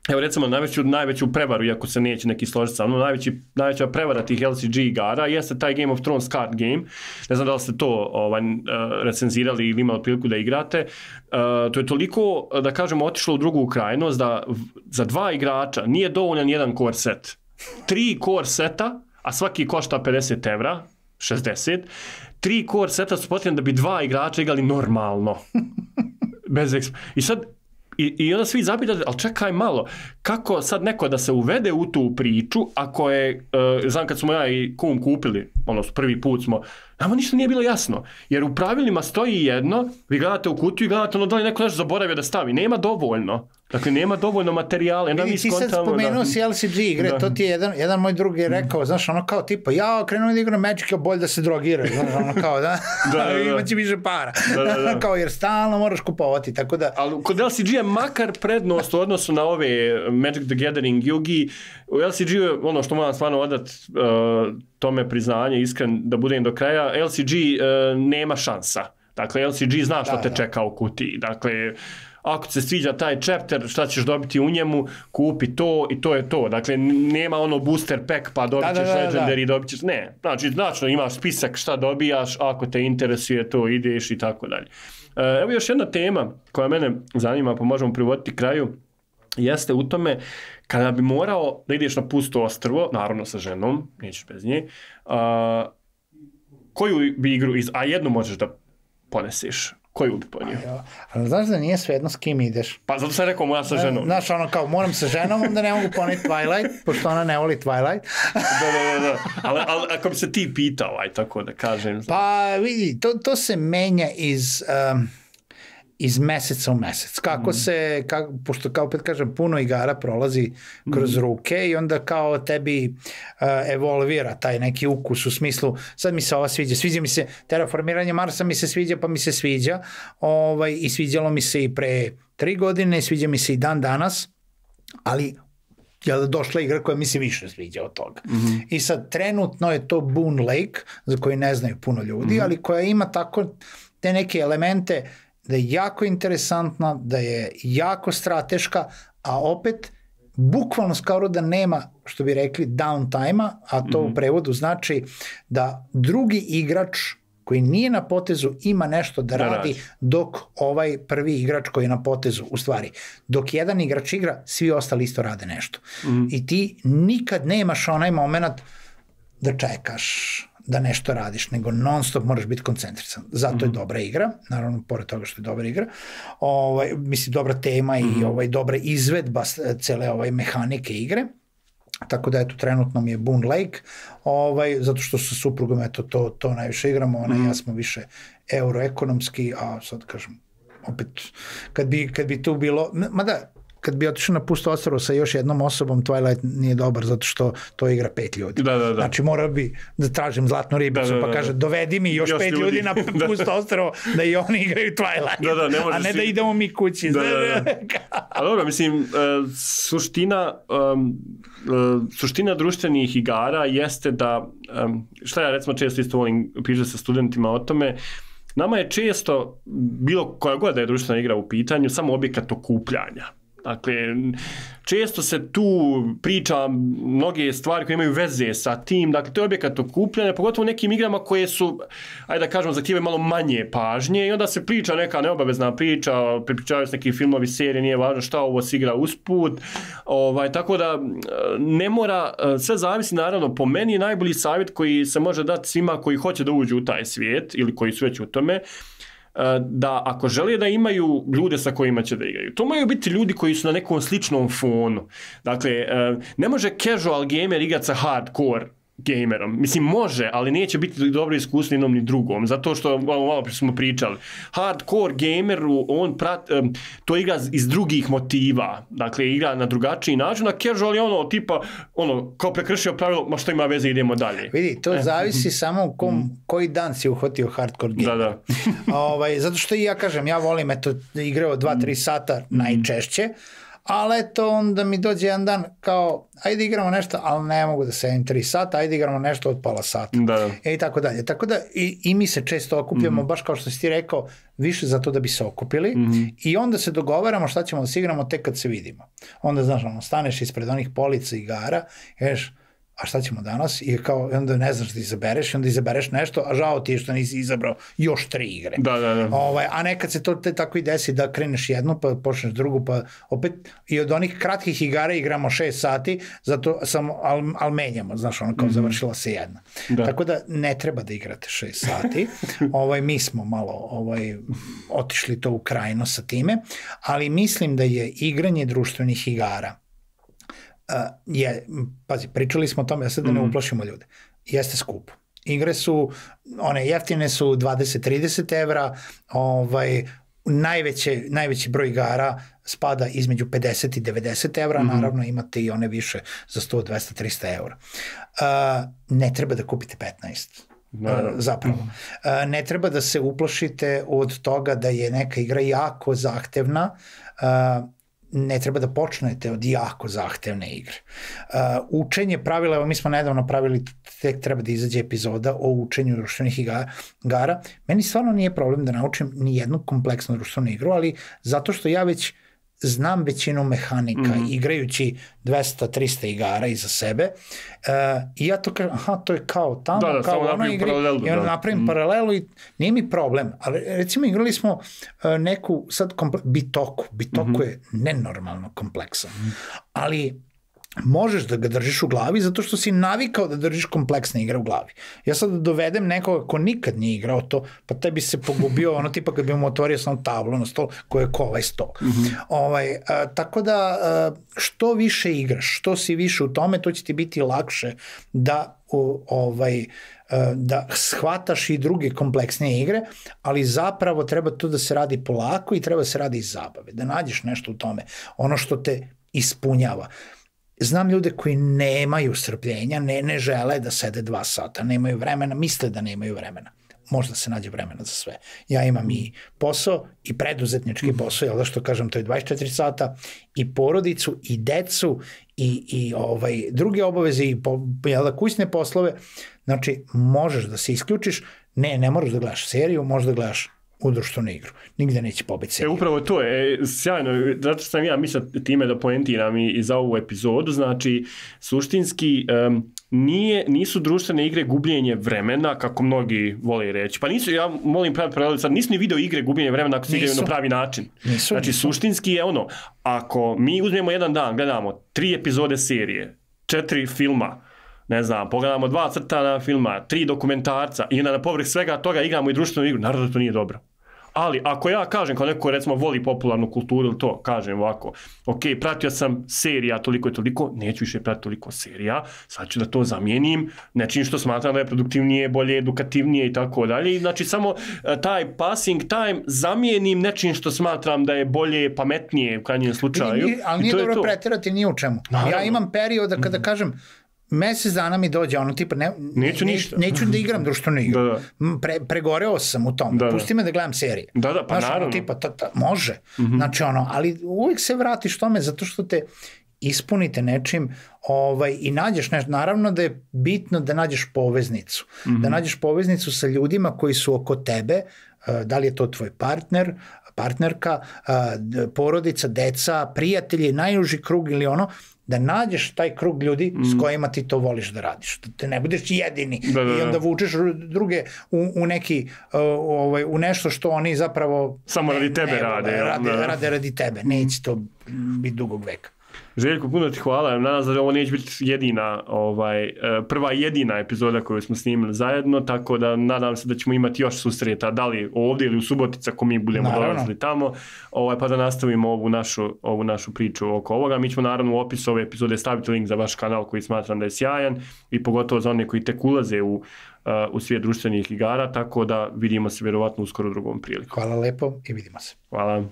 evo recimo najveću, najveću prevaru, iako se neće neki složiti sa mnom, najveći, najveća prevara tih L C G igara jeste taj Game of Thrones card game. Ne znam da li ste to ovaj, recenzirali ili imali priliku da igrate. Uh, to je toliko, da kažemo, otišlo u drugu krajnost da za dva igrača nije dovoljan jedan core set. Tri core seta, a svaki košta pedeset evra, šezdeset, tri core seta su potrebni da bi dva igrača igrali normalno. Bez eksp... I sad, I, I onda svi zapitate, ali čekaj malo, kako sad neko da se uvede u tu priču, ako je, uh, znam kad smo ja i kum kupili, ono, prvi put smo, nama ništa nije bilo jasno, jer u pravilima stoji jedno, vi gledate u kutiju i gledate ono da li neko nešto zaboravio da stavi, nema dovoljno. Dakle, nema dovoljno materijala. Vidi, ti sad spomenuo si L C G igre, da. To ti je jedan, jedan moj drug je rekao, znaš, ono kao tipa, ja krenuo da igram Magic, je bolje da se drogiraju, znaš, ono kao, da, da, da, da. Imaće više para, da, da, da. Kao, jer stalno moraš kupovati, tako da... Ali kod L C G je makar prednost u odnosu na ove Magic the Gathering Yugi, u L C G je ono što moram stvarno odat uh, tome priznanje, iskren da budem do kraja, L C G uh, nema šansa. Dakle, L C G zna što da, te da. čeka u kutiji, dakle... Ako se sviđa taj chapter, šta ćeš dobiti u njemu, kupi to i to je to. Dakle, nema ono booster pack pa dobit ćeš da, da, da, legendary, dobit ćeš... Ne, znači, znači, imaš spisak šta dobijaš, ako te interesuje to, ideš i tako dalje. Evo još jedna tema koja mene zanima, pa možemo privoditi kraju, jeste u tome kada bi morao da ideš na pusto ostrvo, naravno sa ženom, nećeš bez nje, a, koju bi igru, iz, a jednu možeš da poneseš. Koju bi ponio? Ja, ali znaš da nije svejedno s kim ideš. Pa zato sam rekao moja sa ženom. Znaš, ono kao, moram sa ženom, onda ne mogu poneti Twilight, pošto ona ne voli Twilight. da, da, da, da. Ali, ali ako bi se ti pitao, aj tako da kažem. Pa vidi, to, to se menja iz... Um, iz meseca u mesec. Kako mm. se, kako, pošto kao opet kažem, puno igara prolazi kroz mm. ruke i onda kao tebi uh, evolvira taj neki ukus u smislu, sad mi se ova sviđa, sviđa mi se, terraformiranje Marsa mi se sviđa, pa mi se sviđa, ovaj, i sviđalo mi se i pre tri godine, sviđa mi se i dan danas, ali je došla igra koja mi se više sviđa od toga. Mm-hmm. I sad trenutno je to Boon Lake, za koji ne znaju puno ljudi, mm-hmm. ali koja ima tako te neke elemente da je jako interesantna, da je jako strateška, a opet bukvalno skoro da nema, što bi rekli, downtime-a, a to mm-hmm. u prevodu znači da drugi igrač koji nije na potezu ima nešto da, da radi, dok ovaj prvi igrač koji je na potezu, u stvari, dok jedan igrač igra, svi ostali isto rade nešto. Mm-hmm. I ti nikad nemaš onaj moment da čekaš, da nešto radiš, nego non stop moraš biti koncentrisan. Zato mm-hmm. je dobra igra, naravno, pored toga što je dobra igra, ovaj, mislim, dobra tema mm-hmm. i ovaj, dobra izvedba cele ovaj, mehanike igre, tako da eto, trenutno mi je Boon Lake, ovaj, zato što sa suprugom eto, to, to najviše igramo, ona mm-hmm. i ja smo više euroekonomski, a sad kažem, opet, kad bi, kad bi tu bilo, mada, kad bi otišao na pusto ostrvo sa još jednom osobom, Twilight nije dobar zato što to igra pet ljudi. Da, da, da. Znači mora bi da tražim zlatnu ribicu, da, da, da, pa kaže dovedi mi još, još pet ljudi, ljudi na pusto ostrvo da i oni igraju Twilight, da, da, ne a ne si... da idemo mi kući. Da, da, da. A dobro, mislim, uh, suština um, uh, suština društvenih igara jeste da, um, šta ja recimo često isto volim pričati sa studentima o tome, nama je često, bilo koja god da je društvena igra u pitanju, samo objekat okupljanja. Dakle, često se tu priča mnoge stvari koje imaju veze sa tim, dakle, to je objekat okupljanja, pogotovo u nekim igrama koje su, ajde da kažemo, zahtijevaju malo manje pažnje i onda se priča neka neobavezna priča, pripričavaju se neki filmovi, serije, nije važno šta ovo se igra usput, ovaj, tako da ne mora, sve zavisi naravno, po meni je najbolji savjet koji se može dati svima koji hoće da uđu u taj svijet ili koji su već u tome, da ako žele da imaju ljude sa kojima će da igraju, to moraju biti ljudi koji su na nekom sličnom fonu. Dakle, ne može casual gamer igrati sa hardcore gamerom. Mislim, može, ali neće biti dobro iskustvo jednom ni drugom, zato što, malo, malo prije smo pričali, hardcore gameru, on prat, to igra iz drugih motiva, dakle, igra na drugačiji način, a casual je ono, tipa, ono, kao prekršio pravilo, ma što ima veze, idemo dalje. Vidi, to zavisi samo u kom, koji dan si uhvatio hardcore gamer. Da, da. ovaj, zato što i ja kažem, ja volim, eto, igrao dva tri sata najčešće, ali eto, onda mi dođe jedan dan kao, ajde igramo nešto, ali ne mogu da sedim tri sata, ajde igramo nešto od pola sata. Da. E i tako dalje. Tako da i, i mi se često okupljamo, mm-hmm. baš kao što si ti rekao, više za to da bi se okupili mm-hmm. i onda se dogovaramo šta ćemo da se igramo tek kad se vidimo. Onda, znaš, ono, staneš ispred onih polica igara i kažeš, a šta ćemo danas? I kao, onda ne znaš da izabereš, onda izabereš nešto, a žao ti je što nisi izabrao još tri igre. Da, da, da. Ovaj, a nekad se to te tako i desi da kreneš jednu, pa počneš drugu, pa opet i od onih kratkih igara igramo šest sati, zato samo, al, al menjamo, znaš, ono kao mm-hmm. završila se jedna. Da. Tako da ne treba da igrate šest sati. ovaj, mi smo malo ovaj, otišli to u krajno sa time, ali mislim da je igranje društvenih igara Uh, je, pazi, pričali smo o tome, ja sad da ne uplašimo ljude, jeste skupo. Igre su, one jeftine su dvadeset do trideset evra, ovaj, najveće, najveći broj igara spada između pedeset i devedeset evra, mm-hmm. naravno imate i one više za sto, dvesta, trista evra. Uh, ne treba da kupite petnaest. Naravno. Zapravo. Uh, ne treba da se uplašite od toga da je neka igra jako zahtevna, uh, ne treba da počnete od jako zahtevne igre. Uh, učenje pravila, evo mi smo nedavno pravili, tek treba da izađe epizoda o učenju društvenih igara. Meni stvarno nije problem da naučim ni jednu kompleksnu društvenu igru, ali zato što ja već znam većinu mehanika, mm-hmm. igrajući dvesta do trista igara iza sebe, uh, i ja to kažem, aha, to je kao tamo, da, da, kao ono igri, i onda napravim mm-hmm. paralelu i nije mi problem, ali recimo igrali smo uh, neku sad komple- Bitoku, Bitoku mm-hmm. je nenormalno kompleksan, mm-hmm. ali možeš da ga držiš u glavi zato što si navikao da držiš kompleksne igre u glavi. Ja sad dovedem nekoga ko nikad nije igrao to, pa taj bi se pogubio ono tipa kad bi mu otvorio samo tablu na stol koje je ko ovaj stol. Mm-hmm. Ovaj, a, tako da a, što više igraš, što si više u tome, to će ti biti lakše da u, ovaj, a, da shvataš i druge kompleksnije igre, ali zapravo treba to da se radi polako i treba se radi iz zabave, da nađeš nešto u tome, ono što te ispunjava. Znam ljude koji nemaju strpljenja, ne, ne žele da sede dva sata, nemaju vremena, misle da nemaju vremena. Možda se nađe vremena za sve. Ja imam i posao, i preduzetnički posao, jel da što kažem, to je dvadeset četiri sata, i porodicu, i decu, i, i ovaj, druge obaveze, i po, jel da, kućne poslove. Znači, možeš da se isključiš, ne, ne moraš da gledaš seriju, možeš da gledaš u društvenu igru. Nigde neće pobiti seriju. E, upravo to je sjajno, zato što sam ja mislio time da poentiram i, i za ovu epizodu, znači, suštinski um, nije, nisu društvene igre gubljenje vremena, kako mnogi vole reći. Pa nisu, ja molim praviti paralelu, sad nisu ni video igre gubljenje vremena ako se igraju na pravi način. Nisu, znači, nisu. Suštinski je ono, ako mi uzmemo jedan dan, gledamo tri epizode serije, četiri filma, ne znam, pogledamo dva crtana filma, tri dokumentarca i na povrh svega toga igramo i društvenu igru, naravno da to nije dobro. Ali ako ja kažem, kao neko recimo voli popularnu kulturu ili to, kažem ovako, ok, pratio sam serija toliko i toliko, neću više pratiti toliko serija, sad ću da to zamijenim nečim što smatram da je produktivnije, bolje, edukativnije i tako dalje. Znači samo taj passing time zamijenim nečim što smatram da je bolje, pametnije u krajnjem slučaju. Nije, ali nije dobro preterati ni u čemu. Naravno. Ja imam perioda kada kažem, mesec dana mi dođe, ono tipa, ne, neću, ne, neću da igram društvenu igru. Da, da. Pre, pregoreo sam u tom. Da, pusti me da gledam serije. Da, da, pa znaš, naravno. Ono, tipa, ta, ta, može. Mm-hmm. Znači, ono, ali uvijek se vratiš tome zato što te ispunite nečim ovaj, i nađeš nešto. Naravno da je bitno da nađeš poveznicu. Mm-hmm. Da nađeš poveznicu sa ljudima koji su oko tebe, da li je to tvoj partner, partnerka, porodica, deca, prijatelji, najuži krug ili ono, da nađeš taj krug ljudi mm. s kojima ti to voliš da radiš. Da te ne budeš jedini da, da, da. I onda vučeš druge u, u neki, uh, ovaj, u nešto što oni zapravo samo radi tebe ne, rade. Rade, da. rade radi tebe. Neće to biti dugog veka. Željko, puno ti hvala. Nadam se da ovo neće biti jedina, ovaj, prva jedina epizoda koju smo snimili zajedno, tako da nadam se da ćemo imati još susreta, da li ovdje ili u Subotica, ako mi budemo dolazili tamo, ovaj, pa da nastavimo ovu našu, ovu našu priču oko ovoga. Mi ćemo naravno u opisu ove epizode staviti link za vaš kanal koji smatram da je sjajan i pogotovo za one koji tek ulaze u, uh, u svijet društvenih igara, tako da vidimo se vjerovatno uskoro u drugom priliku. Hvala lepo i vidimo se. Hvala.